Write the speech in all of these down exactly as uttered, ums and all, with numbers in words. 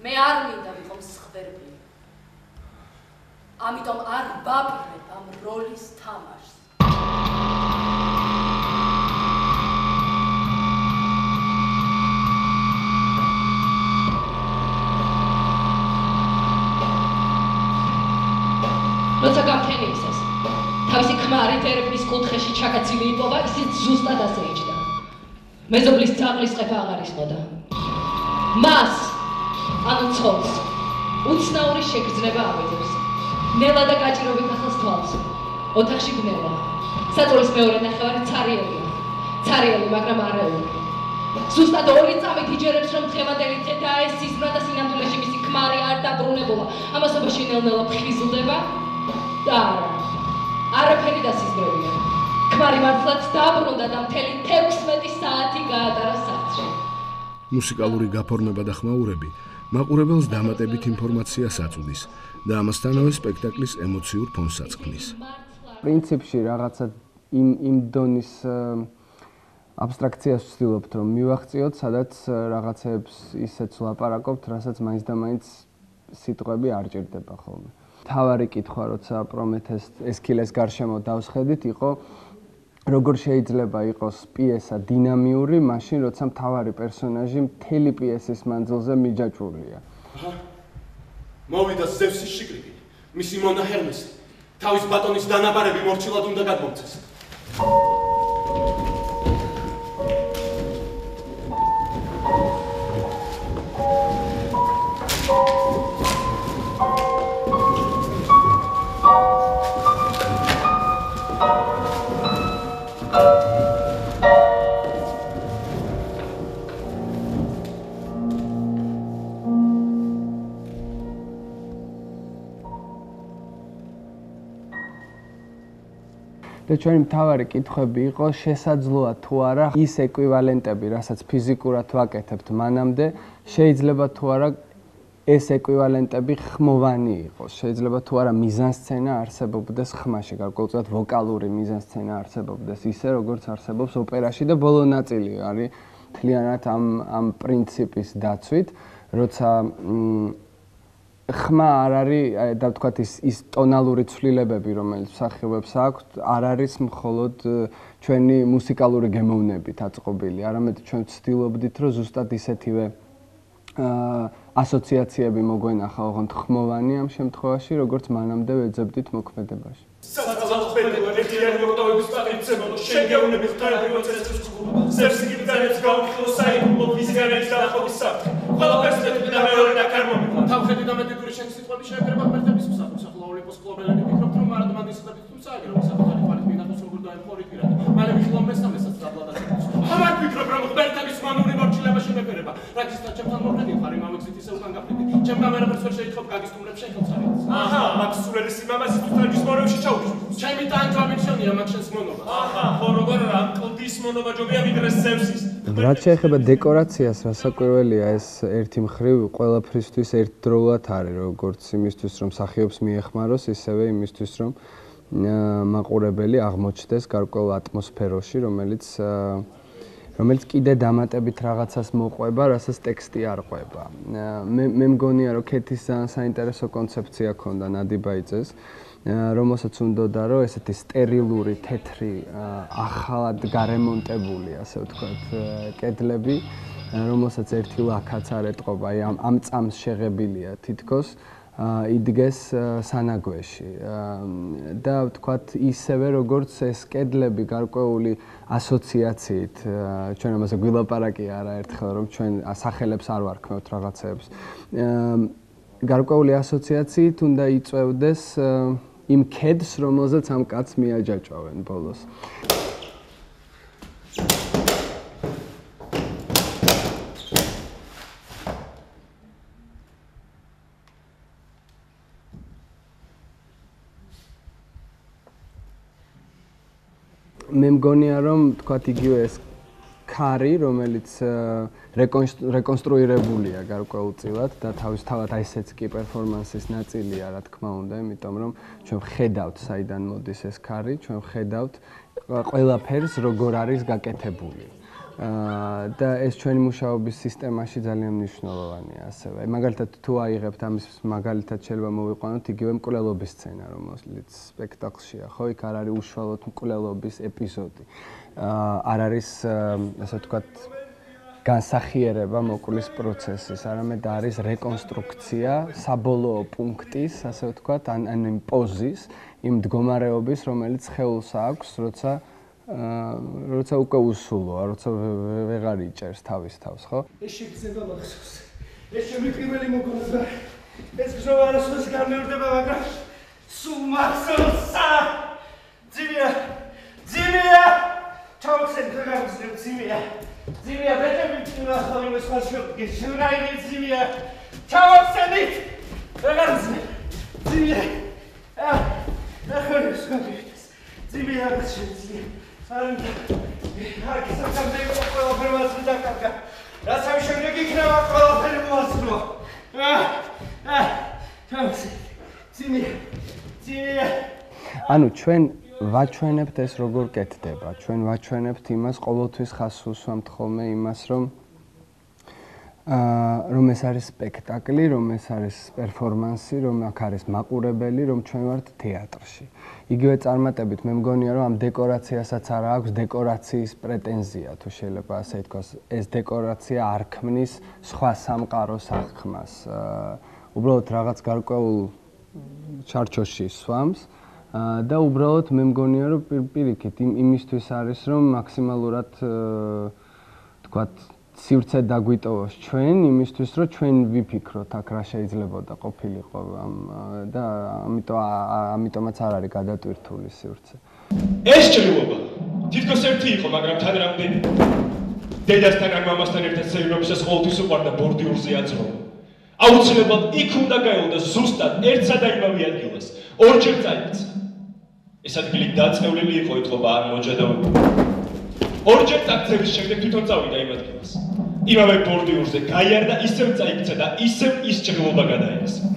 მე არ მინდა ვიყო მსხვერპლი. ამიტომ არ ვაპირებ ამ როლის თამაშს. როცა გამთენიისას, თავისი ქმარით ერევნის კუთხეში ჩაკაცილი იპოვა, ისიც ზუსტად ასე იჯდა. მეზობლის ძაღლის ყეფა აღარ ისმოდა. მას, ანუ ცოლს, უცნაური შეგრძნება ავეძებს. ნელა და გაჭირობით ახალს თვალს. ოთახში ბნელა. საწოლის მეორე ნახევარი ცარიელია. ცარიელი, მაგრამ არეული. ზუსტად ორი წამით იჯერებს, რომ დღევანდელი დღე დაესიზმრა და სინამდვილეში მისი ქმარი არ დაბრუნებულა. ამასობაში ნელ-ნელა ფხიზლდება და არა. არაფერი დასიზმრებია. ქმარი მართლაც დაბრუნდა და მთელი თექვსმეტი საათი გაატარა სახლში. მუსიკალური გაფორმება და ხმაურები მაყურებელს დამატებით ინფორმაციას აწვდის და ამასთანავე სპექტაკლის ემოციურ ფონსაც ქმნის. პრინციპში რაღაცა იმ იმ დონის აბსტრაქციას ვცდილობთ, რომ მივახციოთ, სადაც რაღაცებს ისეც ვლაპარაკობთ, რასაც მაინც და მაინც სიტყვები არ ჭირდება ხოლმე. თავარი კითხვა, როცა პრომეთეს ესქილეს გარშემო დავსხედით, იყო როგორ შეიძლება იყოს პიესა დინამიური, მაშინ როცა მთავარი პერსონაჟი მთელი პიესის მანძილზე მიჯაჭვულია. მოვიდა ზევსის შიკრიკი, მისი მონა ჰერმესი, თავის ბატონის დანაბარები მორჩილად უნდა გადმომცეს. და ჩვენი მთავარი კითხვები იყო შესაძლოა თუ არა ის ეკვივალენტები, რასაც ფიზიკურად ვაკეთებთ მანამდე, შეიძლება თუ არა ეს ეკვივალენტები ხმოვანი იყოს. შეიძლება თუ არა მიზანსცენა არსებობდეს ხმაში, გარკვეულწილად ვოკალური მიზანსცენა არსებობდეს ისე, როგორც არსებობს ოპერაში და ბოლო ნაწილი არის მთლიანად ამ ამ პრინციპის დაცვით, როცა ხმა არ არის, და ვთქვათ ის ის ტონალური ცვლილებები, რომელიც მსახიობებს აქვთ, არ არის მხოლოდ ჩვენი მუსიკალური გემოვნებით აწყობილი, არამედ ჩვენ ვცდილობდით, რომ ზუსტად ისეთივე ასოციაციები მოგვენახა ოღონდ ხმოვანი ამ შემთხვევაში, როგორც მანამდე ვეძებდით მოქმედებაში. საწყალბედო ეხიანი ოქტომბრის პატივცემულო შეგეუნები ხარებრივად წესრიგს გუბა ზევსი გიბძანებს გაუხილო საიდუმლო ვიზგარების დაახლოების საფრთხე ყველაფერს მეტი და მეორე და კარმომი თავხედი და მეტი გური შენი სიტყვები შეეფერება ღმერთების მსახურს ახლა ოლიმპოს კლუბელები ფიქრობთ რომ მარადმადის ხდებით თუმცა აგერო საკუთარი თვალით მინახოს როგორ დაემხორით პირად მალე ვიხილავ მესამესაც დაბლადაც ამარ ფიქრობ რომ ღმერთების მანური მორჩილება შემეფერება რაგისთან ჩემთან მოქმედი ხარ იმავე გზით ისე უკან გაფრინდი ჩემთან ვერაფერს ვერ შეიტყობ გაგისტუმრებ შენ ხელს არის აჰა მაგ სულელი სიმამაცის თვითონ მორევში ჩაუშვი ჩემი ტანჯვა მიჩვენია მაგ შენს მონობას აჰა ხო როგორ რა კლდის მონობა ჯობია ვიდრე ზევსის რაც შეეხება დეკორაციას, რასაკვირველია ეს ერთი მხრივ ყველაფრისთვის ერთდროულად არის, როგორც იმისთვის რომ მსახიობს მიეხმაროს, ისევე იმისთვის რომ მაყურებელი აღმოჩნდეს გარკვეულ ატმოსფეროში, რომელიც რომელიც კიდე დამატებით რაღაცას მოყვება, რასაც ტექსტი არ ყვება. მე მე მგონია რომ ქეთის საინტერესო კონცეფცია ჰქონდა ნადი ბაიძეს, რომელსაც უნდოდა რომ ესეთი სტერილური, თეთრი, ახალად გარემონტებული, ასე ვთქვათ, კედლები, რომელსაც ერთი ლაქაც არ ეტყობა, აი ამ ამ წამს შეღებილია თითქოს, იდგეს სანაგვეში. და ვთქვათ, ისევე როგორც ეს კედლები გარკვეული ასოციაციით, ჩვენ ამაზე გვილაპარაკი არა ერთხელ, რომ ჩვენ სახელებს არ ვარქმევთ რაღაცეებს. გარკვეული ასოციაციით უნდა იწვევდეს იმ კედს, რომელზეც ამ კაცს მიაჯაჭვავენ ბოლოს. მე მგონია რომ თქვათ იგივე ეს ქარი, რომელიც რეკონსტრუირებულია გარკვეულწილად და თავისთავად აი ესეც კი პერფორმანსის ნაწილია, რა თქმა უნდა, იმიტომ რომ ჩვენ ვხედავთ საიდან მოდის ეს ქარი, ჩვენ ვხედავთ ყველაფერს როგორ არის გაკეთებული. და ეს ჩვენი მუშაობის სისტემაში ძალიან მნიშვნელოვანია ასევე. მაგალითად თუ აიღებთ ამის მაგალითად შეიძლება მოვიყვანოთ იგივე მკვლელობის სცენა, რომელიც სპექტაკლშია, ხო, იქ არ არის უშუალოდ მკვლელობის ეპიზოდი. არ არის ასე ვთქვათ განსახიერება მოკვლის პროცესის, არამედ არის რეკონსტრუქცია საბოლოო პუნქტის, ასე ვთქვათ, ან ან იმ პოზის, იმ მდგომარეობის, რომელიც ხელს აქვს, როცა როცა უკვე უსულოა, როცა ვეღარ იჭერს თავის თავს, ხო? ეს შეგრძნება მახსოვს. ეს ჩემი პირველი მოგონება. ეს გზოვა არასოდეს განმეორდება, მაგრამ სულ მახსოვსა. ძიმია, ძიმია. ჩავხსენ გაგავსებ ძიმია. ძიმია, ბეთები თუნახავი მოსხაშობ, გეშურაილი ძიმია. ჩავხსენით. გაგავსებ. ძიმია. აა, ნახე სკაფის. ძიმია, ძიმია. არ გისახა მე ყველაფერი მასწრე დაკარგა. რაც ამ შემდეგ იქნება ყველაფერი მოასწრო. აა აა თავისი ძიმია ძიმია. ანუ ჩვენ ვაჩვენებთ ეს როგორ კეთდება. ჩვენ ვაჩვენებთ იმას, ყოველთვის ხას უსვამთ ხოლმე იმას, რომ აა რომ ეს არის სპექტაკლი, რომ ეს არის პერფორმანსი, რომ აქ არის მაყურებელი, რომ ჩვენ ვართ თეატრში. იგივე წარმატებით მე მგონია რომ ამ დეკორაციასაც არ აქვს დეკორაციის პრეტენზია თუ შეიძლება ასე ითქვას ეს დეკორაცია არ ქმნის სხვა სამყაროს აღქმას უბრალოდ რაღაც გარკვეულ ჩარჩოში სვამს და უბრალოდ მე მგონია რომ პირიქით იმისთვის არის რომ მაქსიმალურად თქვათ სივრცე დაგვიტოვოს ჩვენ იმისთვის რომ ჩვენ ვიფიქროთ აქ რა შეიძლებოდა ყოფილიყო და ამიტომ ამიტომაც არ არის გადატვირთული სივრცე. ეს ჭრილობა თითქოს ერთი იყო, მაგრამ თან რამდენი დედასთან ან მამასთან ერთად სეირნობისას ყოველთვის უყვარდა ბორდიურზე აწროვა. აუცილებლად იქ უნდა გაეულდა ზუსტად ერთსა და იმავე ადგილას. ორჯერ წაიქცა. ეს ადგილი დაწევლილი იყო ეთყობა ან მოჯადოებული. ორჯერ წაქცევის შემდეგ თვითონ წავიდა იმ ადგილას. იმავე ბორდიურზე გაიარდა, ისევ წაიქცა და ისევ ის ჭრილობა გადაეცა.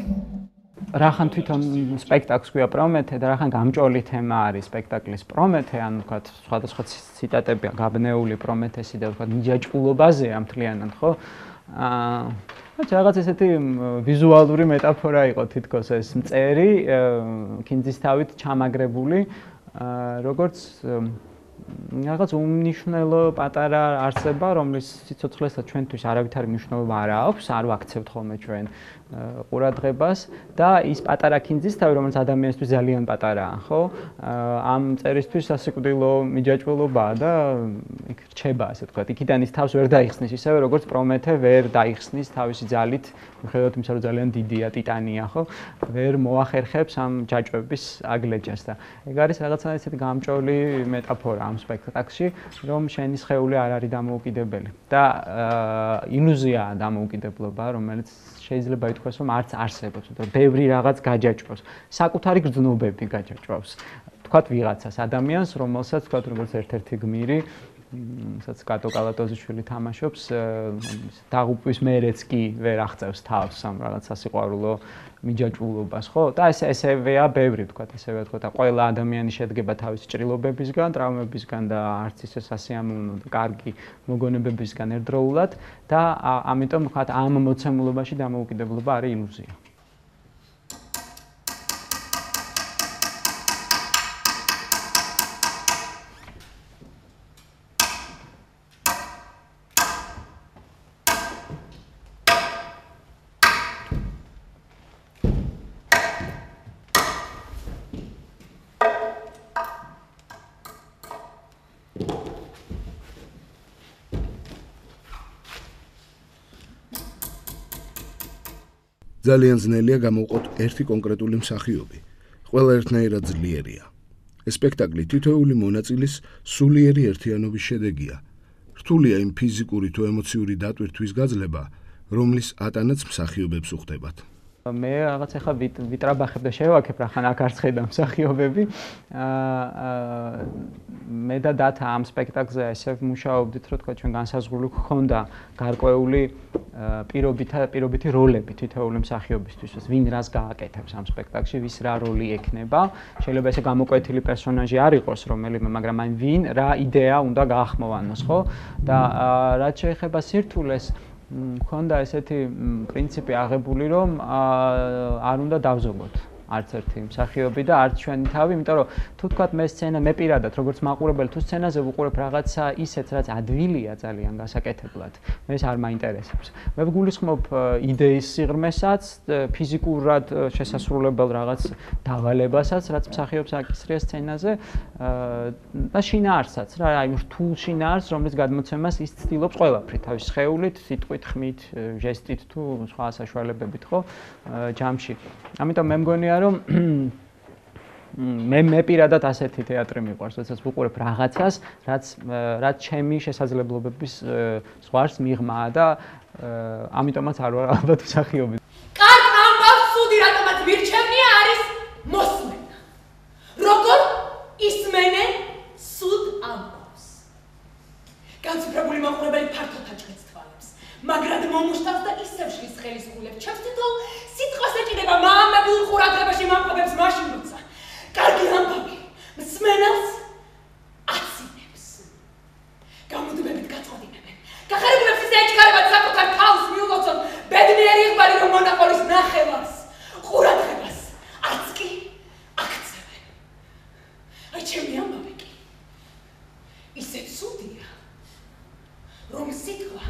რახან თვითონ სპექტაკლს ქვია პრომეთე და რახან გამჭოლი თემა არის სპექტაკლის პრომეთე, ან ვთქვათ, სხვადასხვა ციტატებია გაბნეული პრომეთესი და ვთქვათ მიჯაჭვულობაზეა მთლიანად, ხო? აა რაღაც ესეთი ვიზუალური მეტაფორა იყო თითქოს ეს მწერი, კინძისთავით ჩამაგრებული, როგორც რაღაც უმნიშვნელო პატარა არსება, რომლის სიცოცხლესაც ჩვენთვის არავითარი მნიშვნელობა არ აქვს, არ ვაქცევთ ხოლმე ჩვენ ყურადღებას და ის პატარა კინძისთავი, რომელიც ადამიანისთვის ძალიან პატარაა, ხო? ამ წერისთვის სასიკვდილო მიჯაჭვულობაა და იქ რჩება, ასე ვთქვათ, იქიდან ის თავს ვერ დაიხსნის, ისევე როგორც პრომეთე ვერ დაიხსნის თავისი ძალით, მიუხედავად იმისა, რომ ძალიან დიდია, ტიტანია, ხო? ვერ მოახერხებს ამ ჯაჭვების აგლეჯას და ეგ არის რაღაცა ესეთი გამჭოლი მეტაფორა ამ სპექტაკლში, რომ შენი სხეული არ არის დამოუკიდებელი და ილუზიაა დამოუკიდებლობა, რომელიც შეიძლება ითქვას, რომ არც არსებობს, მაგრამ ბევრი რაღაც გაჯაჭვავს, საკუთარი გრძნობები გაჯაჭვავს. თქვათ ვიღაცას ადამიანს, რომელსაც თქვათ როგორც ერთ-ერთი გმირი, სადაც კატო კალატოზიშვილი თამაშობს, დაღუპვის მერეც კი ვერ აღწევს თავს ამ რაღაც სასიყვარულო მიჯაჭვულობას, ხო? და ეს ესევეა ბევრი, თქვათ, ესევეა, თქვათ, ყველა ადამიანი შედგება თავისი ჭრილობებისგან, ტრავმებისგან და არც ისე სასიამოვნო და კარგი მოგონებებისგან ერთდროულად და ამიტომ, თქვათ, ამ მოცემულობაში დამოუკიდებლობა არის ილუზია. ძალიან ძნელია გამოვყოთ ერთი კონკრეტული მსახიობი. ყველა ერთნაირად ძლიერია. ეს სპექტაკლი თითოეული მონაწილის სულიერი ერთიანობის შედეგია. რთულია იმ ფიზიკური თუ ემოციური დატვირთვის გაძლება, რომლის ატანაც მსახიობებს უხდებათ. მე რაღაც ახლა ვიტრაბახებ და შევაქებ რახან აქ არც ხედავ მსახიობები. აა მე და დათა ამ სპექტაკლზე ესე ვმუშაობდით, რომ თქვა ჩვენ განსაზღვრული გქონდა გარკვეული პირობითა პირობითი როლები თითოეული მსახიობისთვის, ვინ რას გააკეთებს ამ სპექტაკლში, ვის რა როლი ექნება. შეიძლება ესე გამოკვეთილი პერსონაჟი არ იყოს რომელიმე, მაგრამ აი ვინ რა იდეა უნდა გაახმოვანოს, ხო? და რაც შეეხება სირთულეს, მქონდა ესეთი პრინციპი აღებული, რომ არ უნდა დავზოგოთ არც ერთი მსახიობი და არც ჩვენი თავი, იმიტომ რომ თუ თქვათ მე სცენა მე პირადად როგორც მაყურებელი თუ სცენაზე ვუყურებ რაღაცა ისეთ რაც ადვილია ძალიან გასაკეთებლად, მე ეს არ მაინტერესებს. მე ვგულისხმობ იდეის სიღრმესაც, ფიზიკურად შესასრულებელ რაღაც დავალებასაც, რაც მსახიობს აკისრია სცენაზე და შინაარსაც რა, აი რთულ შინაარს, რომლის გადმოცემას ის ცდილობს ყველაფრით, თავის სხეულით, სიტყვით, ხმით, ჟესტით თუ სხვა საშუალებებით, ხო, ჯამში. ამიტომ მე მგონია რომ მე მე პირადად ასეთი თეატრი მიყვარს, როდესაც ვუყურებ რაღაცას, რაც რაც ჩემი შესაძლებლობების ზღვარს მიღმაა და ამიტომაც არ ვარ ალბათ მსახიობი. კარგ ამბავს სუდი რატომაც მირჩევნია არის მოსმენა. როგორ ისმენენ სუდ ამბავს. განსაკუთრებული მაყურებელი ფართოდ აჭრեց თვალებს, მაგრამ მომუშტავს და ისევ შლის ხელის გულებს ჩემს თითოეულ სიტყვას ეჭიდება მაამებულ ყურადღებაში მომყოფებს მაშინ როცა კარგი ამბავი მსმენელს აცინებს. გამუდმებით გაწოდინებენ. გახარებულებს ისე ეჩქარებათ საკუთარ თავს მიულოცონ ბედნიერი იყვარი რომ მონაყოლის ნახევარს ყურადღებას არც კი აქცევენ. აი ჩემი ამბავი კი ისეთ სუდია რომ სიტყვა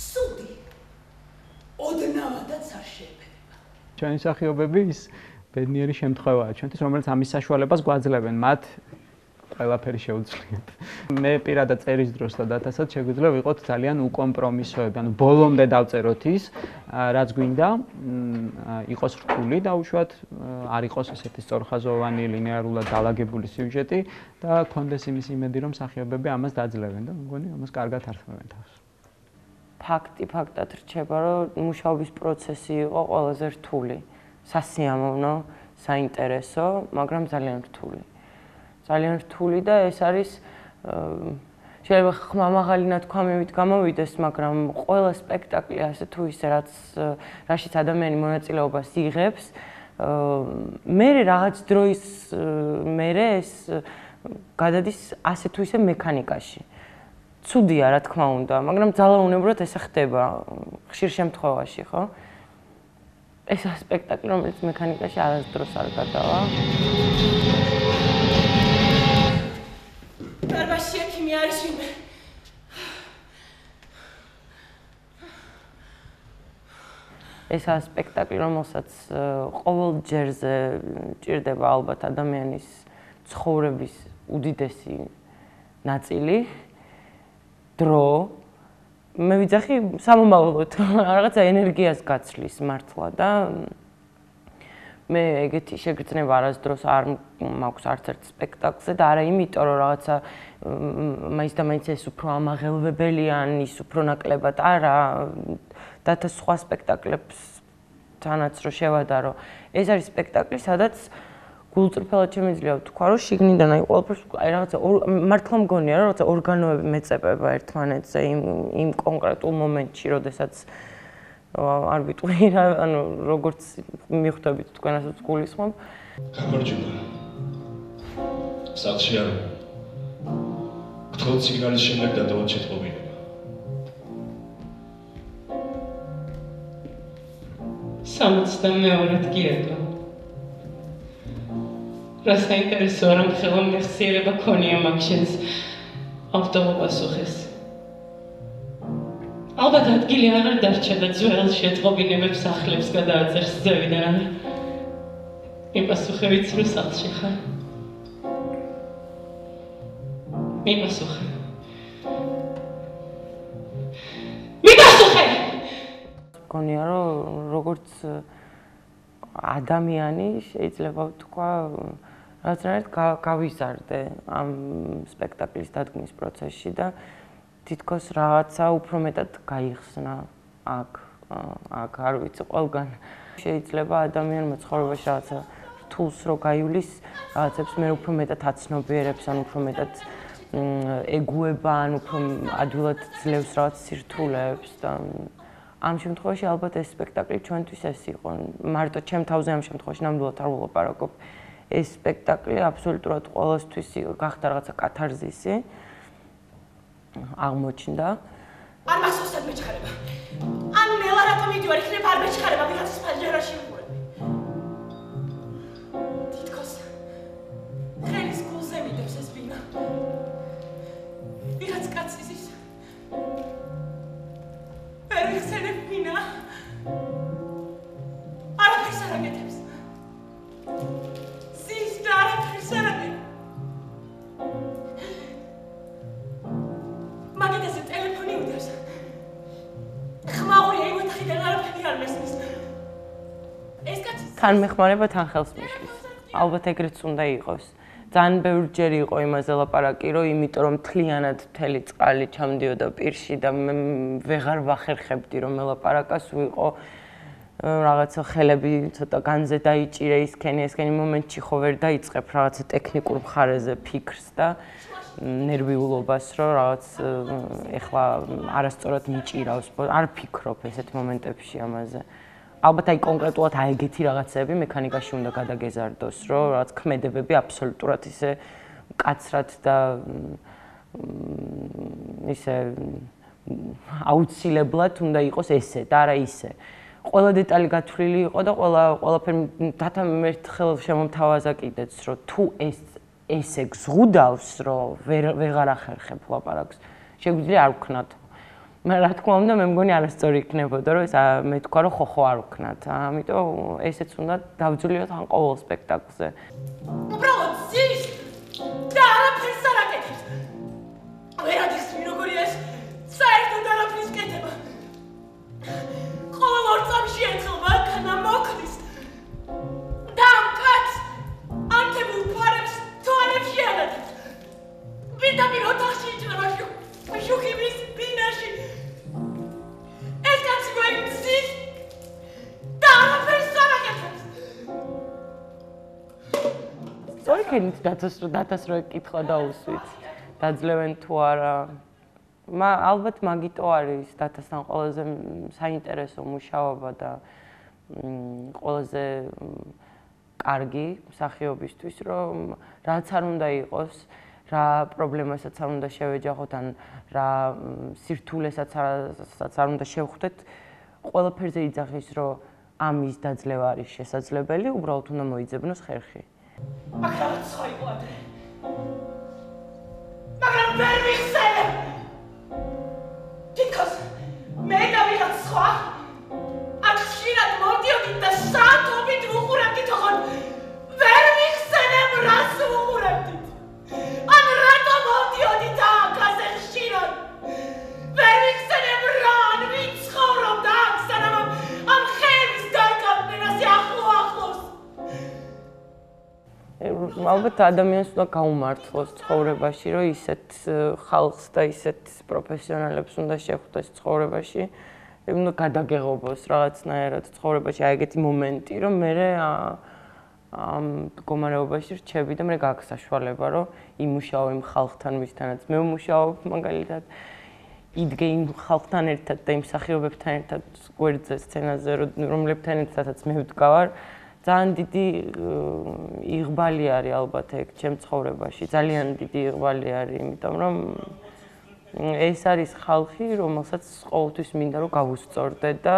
სუდი ოდნავადაც არ შეეფერება. ჩვენი მსახიობები ის ბედნიერი შემთხვევაა ჩვენთვის, რომელიც ამის საშუალებას გვაძლევენ, მათ ყველაფერი შეუძლიათ. მე პირადად წერის დროს და დათასაც შეგვიძლია ვიყოთ ძალიან უკომპრომისოები, ანუ ბოლომდე დავწეროთ ის, რაც გვინდა, იყოს რთული და უშუალოდ არ იყოს ესეთი სწორხაზოვანი, ლინეარულად დალაგებული სიუჟეტი და გქონდეს იმის იმედი, რომ მსახიობები ამას დაძლევენ და მგონი ამას კარგად ართმევენ თავს. ფაქტი ფაქტად რჩება, რომ მუშაობის პროცესი იყო ყველაზე რთული. სასიამოვნო, საინტერესო, მაგრამ ძალიან რთული. ძალიან რთული და ეს არის შეიძლება ხმამაღალი ნათქვამივით გამოვიდეს, მაგრამ ყველა სპექტაკლი ასე თუ ისე რაც რაშიც ადამიანი მონაწილეობას იღებს, მერე რაღაც დროის მერე ეს გადადის ასე თუ ისე მექანიკაში. ცუდია რა თქმა უნდა, მაგრამ ძალაუნებურად ესე ხდება ხშირ შემთხვევაში, ხო? ეს სპექტაკლი, რომელიც მექანიკაში არასდროს არ გადავა. დარბაზში ექიმი არის ვინმე. ეს სპექტაკლი, რომელსაც ყოველ ჯერზე ჭირდება ალბათ ადამიანის ცხოვრების უდიდესი ნაწილი, დრო, მე ვიძახი სამომავლოდ, რაღაცა ენერგიას გაცვლის მართლა და მე ეგეთი შეგრძნება არასდროს არ მაქვს არც ერთ სპექტაკლზე და არა იმიტომ, რომ რაღაცა მაინც და მაინც ეს უფრო ამაღელვებელია, ის უფრო ნაკლებად არა და თა სხვა სპექტაკლებსთანაც რო შევადარო. ეს არის სპექტაკლი, სადაც გულწრფელად შემიძლია ვთქვა, რომ შიგნიდან აი ყველაფერს აი რაღაცა მართლა მგონია, რომ რაღაცა ორგანოები მეწებება ერთმანეთზე იმ იმ კონკრეტულ მომენტში, როდესაც არ ვიტყვი რა, ანუ როგორც მიხვდებით თქვენასაც გულისხმობ. გამარჯობა. სახლში არ გთხოვთ სიგნალის შემდეგ დადავოთ შეტყობინება. სამოცდამეორედ გიერთო. რა საინტერესოა, რომ ხელოვნებსიერება ქონია მაგ შენს ავტომობილს. ალბათ ადგილი აღარ დარჩა და ძველ შეტყობინებებს სახლებს გადააწერს ზევიდან არა. მიპასუხე ვიცი, რომ სახლში ხარ. მიპასუხე. მიპასუხე! მგონია, რომ როგორც ადამიანი შეიძლება ვთქვა, რაღაცნაირად გავიზარდე ამ სპექტაკლის დადგმის პროცესში და თითქოს რაღაცა უფრო მეტად გაიხსნა აქ, აქ არ ვიცი ყველგან. შეიძლება ადამიანმა ცხოვრებაში რაღაცა რთულს რო გაივლის, რაღაცებს მე უფრო მეტად აცნობიერებს, ან უფრო მეტად ეგუება, ან უფრო ადვილად ძლევს რაღაც სირთულეებს და ამ შემთხვევაში ალბათ ეს სპექტაკლი ჩვენთვის ეს იყო. მარტო ჩემ თავზე ამ შემთხვევაში ნამდვილად არ ვლაპარაკობ. ეს სპექტაკლი აბსოლუტურად ყოველთვის გახდა რაღაცა კათარზისი. აღმოჩნდა. არ მასოსად მეჩხარება. ან ნელა რატომ იდიო არ იქნება არ მეჩხარება ვიღაცის ფანჯარაში ვიყურები. თითქოს ხელის გულზე მიდევს ეს ბინა. ვიღაც კაცის ის ვერ ვიხსენებ ბინა. არაფერს არ აკეთებს. ზის და არაფერს არ აკეთებს. მაგეთაზე ტელეფონი უდევს. ხმაურია იმ ოთახიდან არაფერი არ მესმის. ეს კაცი თან მეხმარება თან ხელს მიშლის. ალბათ ეგრეც უნდა იყოს. ძალიან ბევრჯერ იყო იმაზე ლაპარაკი, რომ იმიტომ რომ მთლიანად მთელი წყალი ჩამდიოდა პირში და მე ვეღარ ვახერხებდი რომ ელაპარაკას, ვიყო რაღაცა ხელები ცოტა განზე დაიჭირე ისქენი, ესქენი მომენტში ხო ვერ დაიწყებ რაღაცა ტექნიკურ მხარეზე ფიქრს და ნერვიულობას, რომ რაღაც ეხლა არასწორად მიჭირავს, არ ფიქრობ ესეთ მომენტებში ამაზე. ალბათ აი კონკრეტულად აი ეგეთი რაღაცები მექანიკაში უნდა გადაგეზარდოს, რომ რაღაც ქმედებები აბსოლუტურად ისე მკაცრად და ისე აუცილებლად უნდა იყოს ესე და არა ისე. ყველა დეტალი გათვლილი იყო და ყველა ყველაფერი დათა მერთხელ შემომთავაზა კიდეც, რომ თუ ეს ესე გზღუდავს, რომ ვეღარ ახერხებ ლაპარაკს, შეგვიძლია არ ვქნათ. მაგრამ რა თქმა უნდა, მე მგონი არასწორი იქნებოდა, რომ ეს მე თქვა, რომ ხო ხო არ ვქნათ. ამიტომ ესეც უნდა დავძლიოთ ან ყოველ სპექტაკლზე. უბრალოდ ზის და არაფერს არ აკეთებს. ვერადიხსნი როგორია ეს საერთოდ არაფრის კეთება. ყოველ ორ წამში ერთხელ მანქანა მოქმის. და ამ კაცს ანთებულ ფარებს თვალებში ანათებს. პირდაპირ ოთახში იჭრება შუქიბის ბინაში. ეს კაცი გვაიცის და არაფერს არ აკეთებს. სწორი ქენით დათას რო ეკითხა დაუსვით. დაძლევენ თუ არა. მა ალბათ მაგიტო არის დათასთან ყველაზე საინტერესო მუშაობა და ყველაზე კარგი მსახიობისთვის, რომ რაც არ უნდა იყოს, რა პრობლემასაც არ უნდა შევეჯახოთ, ან რა სირთულესაც არ უნდა შევხვდეთ, ყველაფერზე იძახის, რომ ამის დაძლევა არის შესაძლებელი, უბრალოდ უნდა მოიძებნოს ხერხი. მაგრამ სხვა იყო ადრე. მაგრამ ვერ ვიხსენებ. თითქოს მე და ვიღაც სხვა აქ ხშირად მოვდიოდით და საათობით ვუყურებდით, ოღონდ ვერ ვიხსენებ რას ვუყურებდით. ან რატო მოვდიოდით აქ ასე ხშირად? ვერ ვიხსენებ რა, ან ვინ ცხოვრობდა აქ, სანამ ამ ხეების დაკავდნენ ასე ახლო ახლოს. ალბათ ადამიანს უნდა გაუმართლოს ცხოვრებაში, რომ ისეთ ხალხს და ისეთ პროფესიონალებს უნდა შეხვდეს ცხოვრებაში, უნდა გადაგეღობოს რაღაცნაირად ცხოვრებაში აი ეგეთი მომენტი, რომ მე ამ მდგომარეობაში რჩები და მე გაქვს საშუალება, რომ იმუშაო იმ ხალხთან, ვისთანაც მე ვმუშაობ, მაგალითად იდგე იმ ხალხთან ერთად და იმ მსახიობებთან ერთად გვერდზე სცენაზე, რომლებთან ერთადაც მე ვდგავარ. ძალიან დიდი იღბალი არის ალბათ ეგ ჩემ ცხოვრებაში, ძალიან დიდი იღბალი არის, იმიტომ რომ ეს არის ხალხი, რომელსაც ყოველთვის მინდა რომ გავუსწორდე და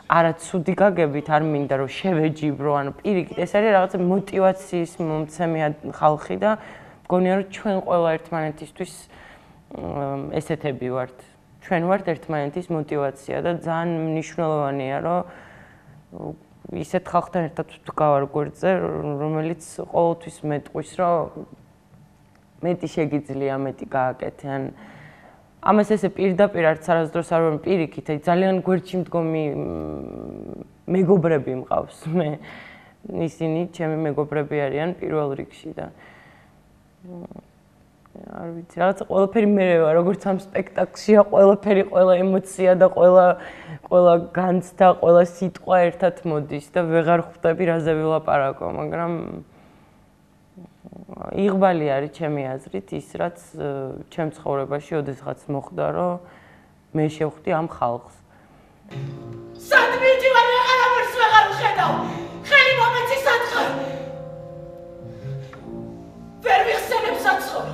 არა ცუდი გაგებით არ მინდა რომ შევეჯიბრო, ანუ პირიქით, ეს არის რაღაცა мотиваციის მომცემი ხალხი და მგონია რომ ჩვენ ყველა ერთმანეთისთვის ესეთები ვართ. ჩვენ ვართ ერთმანეთის мотиваცია და ძალიან მნიშვნელოვანია რომ ისეთ ხალხთან ერთად ვდგავარ გვერდზე, რომელიც ყოველთვის მეტყვის, რომ მეტი შეგიძლია, მეტი გააკეთე, ან ამას ესე პირდაპირ არც არასდროს არ ვარ პირიქით, აი ძალიან გვერდში მდგომი მეგობრები მყავს მე. ისინი ჩემი მეგობრები არიან პირველ რიგში და არ ვიცი, რაღაცა ყველაფერი მერე ვარ, როგორც ამ სპექტაკლშია, ყველაფერი, ყველა ემოცია და ყველა ყველა განცდა, ყველა სიტყვა ერთად მოდის და ვეღარ ხვდები რაზე ვილაპარაკო, მაგრამ იღბალი არის ჩემი აზრით ის, რაც ჩემ ცხოვრებაში ოდესღაც მოხდა, რომ მე შევხვდი ამ ხალხს. სად მივდივარ, ვეღარაფერს ვეღარ ვხედავ. ხელი მომეცი სათხარ. ვერ ვიხსენებ საცხოვრო.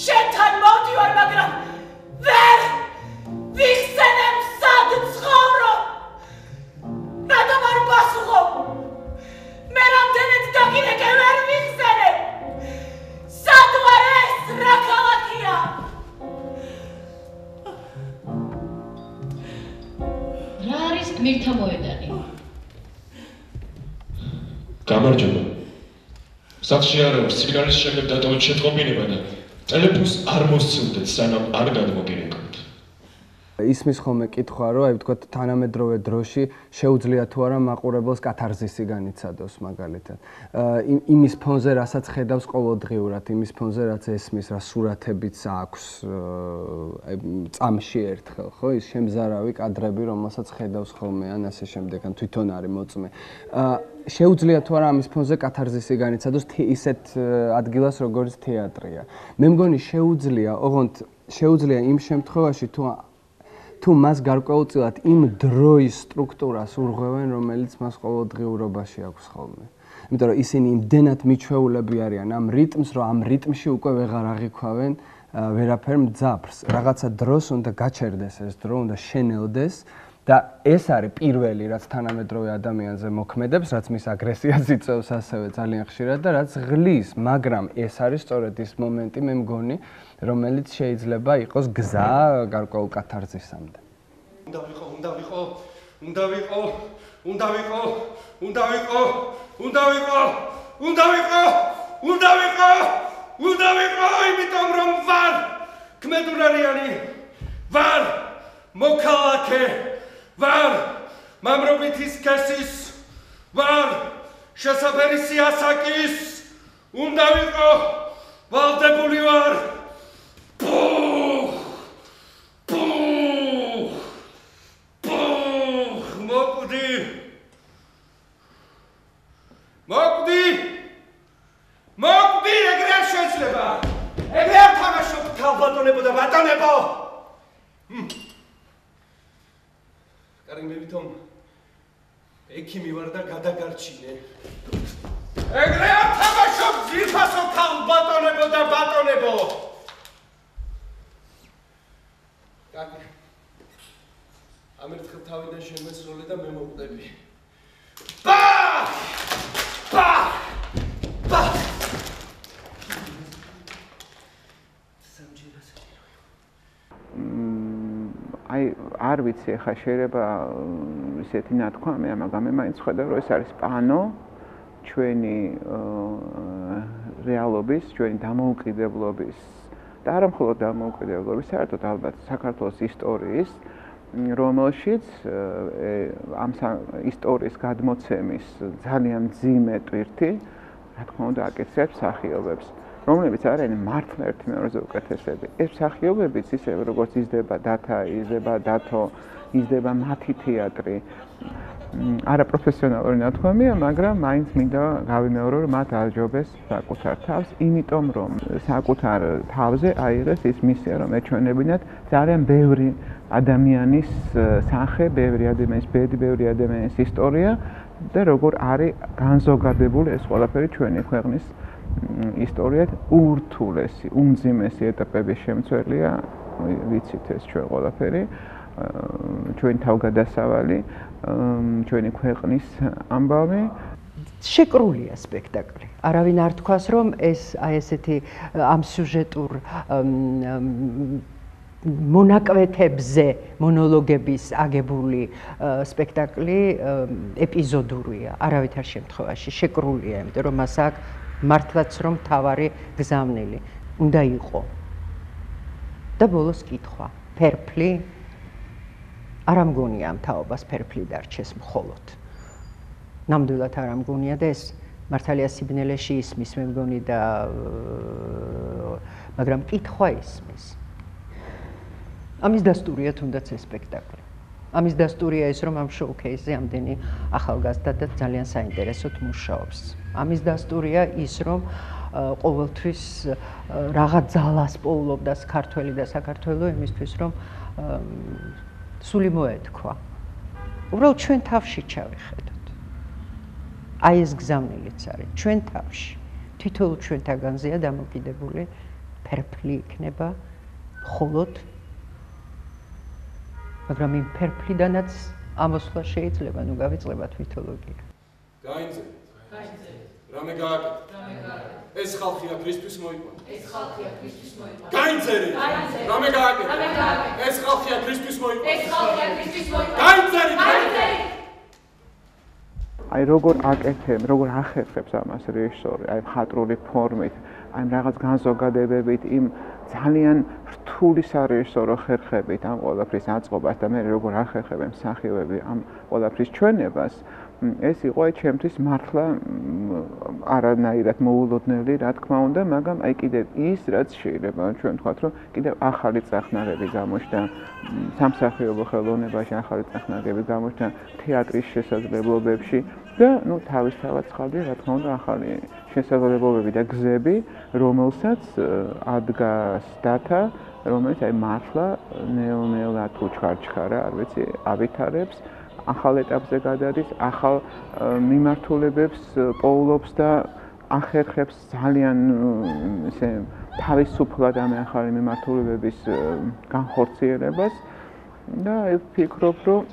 შენთან მოვდივარ, მაგრამ ვერ ვიხსენებ სად ცხოვრობ. რატომ არ პასუხობ? მე რამდენად დაგინეკე, ვერ ვიხსენებ. სად ვარ ეს, რა ქალაქია? რა არის გმირთა მოედანი? გამარჯობა. სახლში არ ვარ, სიგნალის შემდეგ დატოვეთ შეტყობინება და ტელეფონს არ მოსცილდეთ, სანამ არ გადმოგირეკავთ. ისმის ხოლმე კითხვა, რომ აი ვთქვათ თანამედროვე დროში შეუძლია თუ არა მაყურებელს კათარზისი განიცადოს მაგალითად. იმის ფონზე, რასაც ხედავს ყოველდღიურად, იმის ფონზე, რაც ესმის, რა სურათებიც აქვს წამში ერთხელ, ხო, ის შემზარავი კადრები, რომელსაც ხედავს ხოლმე, ან ასე შემდეგ, ან თვითონ არის მოწმე. შეუძლია თუ არა ამის ფონზე კათარზისი განიცადოს ისეთ ადგილას, როგორც თეატრია. მე მგონი შეუძლია, ოღონდ შეუძლია იმ შემთხვევაში, თუ თუ მას გარკვეულწილად იმ დროის სტრუქტურას ურღვევენ, რომელიც მას ყოველდღიურობაში აქვს ხოლმე. იმიტომ რომ ისინი იმდენად მიჩვეულები არიან ამ რიტმს, რომ ამ რიტმში უკვე ვეღარ აღიქვავენ ვერაფერ მძაფრს. რაღაცა დროს უნდა გაჩერდეს ეს დრო, უნდა შენელდეს და ეს არის პირველი, რაც თანამედროვე ადამიანზე მოქმედებს, რაც მის აგრესიას იწვევს ასევე ძალიან ხშირად და რაც ღლის, მაგრამ ეს არის სწორედ ის მომენტი, მე მგონი, რომელიც შეიძლება იყოს გზა გარკვეულ კათარზისამდე. უნდა ვიყო, უნდა ვიყო, უნდა ვიყო, უნდა ვიყო, უნდა ვიყო, უნდა ვიყო, უნდა ვიყო, უნდა ვიყო, უნდა ვიყო, იმიტომ რომ ვარ ქმედუნარიანი, ვარ მოქალაქე, ვარ მამრობითი სქესის, ვარ შესაფერი სიასაკის, უნდა ვიყო, ვალდებული ვარ. Puh! Puh! Puh! Mokdi! Mokdi! Mokdi! ეგრე არ შეიძლება! ეგრე არ თამაშობ თავბატონებო და ბატონებო! კარი მე ვითომ ექიმი ვარ და გადაგარჩინე. ეგრე არ თამაშობ ძირფასო თავბატონებო და ბატონებო! Კარგი. ამერთხელ თავიდან შემესროლე და მე მოვკვდები. ბა! ბა! ბა! აი არ ვიცი, ხა შეიძლება ისეთი ნათქვამია, მაგრამ მე მაინც ხედავ, რომ ეს არის პანო ჩვენი რეალობის, ჩვენი დამოუკიდებლობის და არა მხოლოდ დამოუკიდებლობის, საერთოდ ალბათ საქართველოს ისტორიის, რომელშიც ამ ისტორიის გადმოცემის ძალიან მძიმე ტვირთი, რა თქმა უნდა, აკისრებს მსახიობებს, რომლებიც არიან მართლა ერთმანეთზე უკეთესები. ეს მსახიობებიც ისე როგორც იზრდება დათა, იზრდება დათო, იზრდება მათი თეატრი. არაპროფესიონალური ნათქვამია, მაგრამ მაინც მინდა გავიმეორო, რომ მათ აჯობეს საკუთარ თავს, იმიტომ რომ საკუთარ თავზე აიღეს ის მისია, რომ ეჩვენებინათ ძალიან ბევრი ადამიანის სახე, ბევრი ადამიანის ბედი, ბევრი ადამიანის ისტორია და როგორ არის განზოგადებული ეს ყველაფერი ჩვენი ქვეყნის ისტორიად ურთულესი, უმძიმესი ეტაპების შემცველია, ვიცით ეს ჩვენ ყველაფერი, ჩვენი თავგადასავალი, ჩვენი ქვეყნის ამბავი. შეკრულია სპექტაკლი. არავინ არ თქვას, რომ ეს აი ესეთი ამ სიუჟეტურ მონაკვეთებზე მონოლოგების აგებული სპექტაკლი ეპიზოდურია. არავითარ შემთხვევაში შეკრულია, იმიტომ რომ მას აქვს მართლაც რომ თავარი გზავნილი უნდა იყო. და ბოლოს კითხვა, ფერფლი არ ამგონია ამ თაობას ფერფლი დარჩეს მხოლოდ. ნამდვილად არ ამგონია და ეს მართალია სიბნელეში ისმის მე მგონი და მაგრამ კითხვა ისმის. ამის დასტურია თუნდაც ეს სპექტაკლი. ამის დასტურია ის რომ ამ შოუ-ქეისზე ამდენი ახალგაზრდა და ძალიან საინტერესოდ მუშაობს. ამის დასტურია ის რომ ყოველთვის რაღაც ძალას პოულობდა ქართველი და საქართველო იმისთვის რომ სული მოეთქვა. უბრალოდ ჩვენ თავში ჩავიხედოთ. აი ეს გზავნილიც არის ჩვენ თავში. თითოეულ ჩვენთაგანზეა დამოკიდებული ფერფლი იქნება მხოლოდ მაგრამ იმ ფერფლიდანაც ამოსვლა შეიძლება, ნუ გავიწყებათ მითოლოგია. გაინძე. გაინძე. რამე გააკეთე? რამე გააკეთე. ეს ხალხია ქრისტეს მოიყვანა. ეს ხალხია ქრისტეს მოიყვანა. გაინძერი. გაინძე. რამე გააკეთე? რამე გააკეთე. ეს ხალხია ქრისტეს მოიყვანა. ეს ხალხია ქრისტეს მოიყვანა. გაინძერი. გაინძერი. აი როგორ აკეთებ, როგორ ახერხებს ამას რეჟისორი, აი მხატვრული ფორმით, აი რაღაც განზოგადებებით იმ ძალიან რთული სარეჟისორო ხერხებით ამ ყველაფრის აწყობას და მე როგორ ახერხებ მსახიობები ამ ყველაფრის ჩვენებას, ეს იყო აი ჩემთვის მართლა არანაირად მოულოდნელი, რა თქმა უნდა, მაგრამ აი კიდევ ის, რაც შეიძლება ჩვენ ვთქვათ, რომ კიდევ ახალი წახნაგები გამოჩნდა სამსახიობო ხელოვნებაში, ახალი წახნაგები გამოჩნდა თეატრის შესაძლებლობებში და ნუ თავისთავად ხალხი, რა თქმა უნდა, ახალი შესაძლებლობები და გზები, რომელსაც ადგას დათა, რომელიც აი მართლა ნელ-ნელა თუ ჩქარ-ჩქარა, არ ვიცი, ავითარებს, ახალ ეტაპზე გადადის, ახალ მიმართულებებს პოულობს და ახერხებს ძალიან ესე თავისუფლად ამ ახალი მიმართულებების განხორციელებას და ვფიქრობ, რომ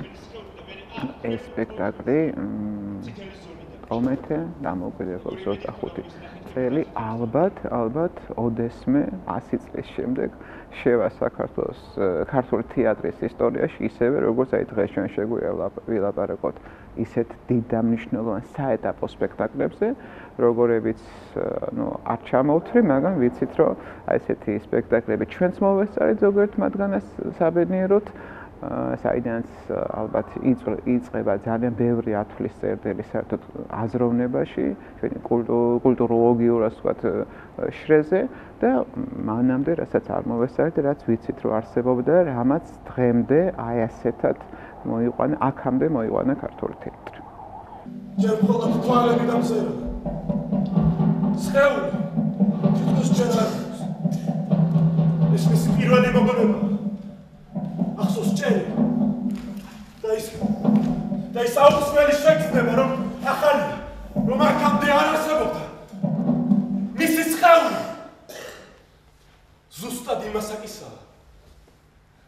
ეს სპექტაკლი პრომეთე დამოუკიდებლობის ოცდახუთი წელი ალბათ, ალბათ ოდესმე ასი წლის შემდეგ შევა საქართველოს ქართული თეატრის ისტორიაში ისევე როგორც აი დღეს ჩვენ შეგვივლაპარაკოთ ისეთ დიდ და მნიშვნელოვან საეტაპო სპექტაკლებზე, როგორებიც ნუ არ ჩამოვთვლი, მაგრამ ვიცით, რომ აი ესეთი სპექტაკლები ჩვენც მოვესწარით ზოგიერთ მათგანას საბედნიეროდ საიდანაც ალბათ იწყება ძალიან ბევრი ათვლის წერტილი საერთოდ აზროვნებაში, ჩვენი კულტუროლოგიურ ასე ვთქვათ შრეზე და მანამდე რასაც არ მოვესწარეთ, რაც ვიცით რომ არსებობდა, რამაც დღემდე აი ასეთად მოიყვანა, აქამდე მოიყვანა ქართული თეატრი. ჯერ მხოლოდ თვალები დამზერა. სხეული თითქოს ჯერ არ აქვს. ეს მისი პირველი მოგონება. ახსოვს ჭერი და ის და ის აუცილებელი შეგრძნება რომ ახალი რომ აქამდე არ არსებობდა მისი სხეული ზუსტად იმასაკისაა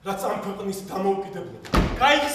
რაც ამ ქვეყნის დამოუკიდებლობა გაიხსნა